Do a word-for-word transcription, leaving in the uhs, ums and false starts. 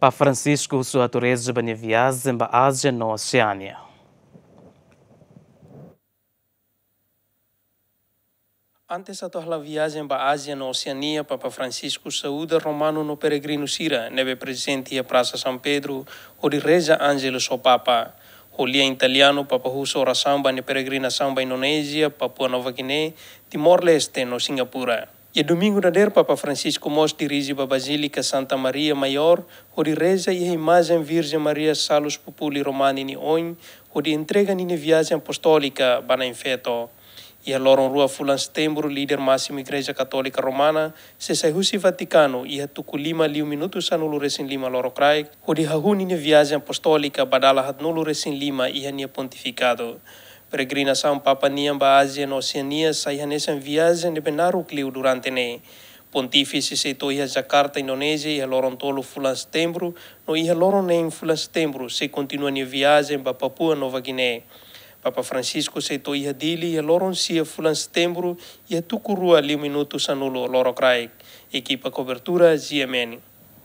Papa Francisco husu atu reza ba nia viajen ba Ázia no Oseánia. Antes atu hala'o viajen ba Ázia no Oseánia, Papa Francisco saúda romanu no peregrinu sira ne'ebé prezente iha Prasa San Pedro, hodi reza Angelus ho Papa. Ho lian italianu, Papa husu orasaun ba nia peregrinasaun ba Indonézia, Papua Nova Guiné, Timor-Leste no Singapura. Iha domingu dadeer, Papa Francisco mós dirije ba Bazílika Santa Maria Maior, hodi reza iha imajen Virjen Maria Salus Populi Romani nia oin, hodi entrega ninia viajen apostólika ba Na'in Feto. Iha loron rua fulan Setembru, líder másimu Igreja Katólika Romana sei sai husi Vatikanu iha tuku lima liu minutu sanulu-resin-lima lorokraik, hodi hahú ninia viajen apostólika ba dala haatnulu-resin-lima iha nia pontifikadu. Peregrinasaun Papa nian ba Ázia no Oseánia sai hanesan viajen ne'ebé naruk liu durante ne'e. Pontífise sei to'o iha Jakarta, Indonézia, iha loron tolu fulan Setembru, no iha loron neen fulan Setembru sei kontinua nia viajen ba Papua Nova Guiné. Papa Francisco sei to'o iha Dili iha loron sia fulan Setembru, iha tuku rua liu minutu sanulu lorokraik. Ekipa kobertura, G M N.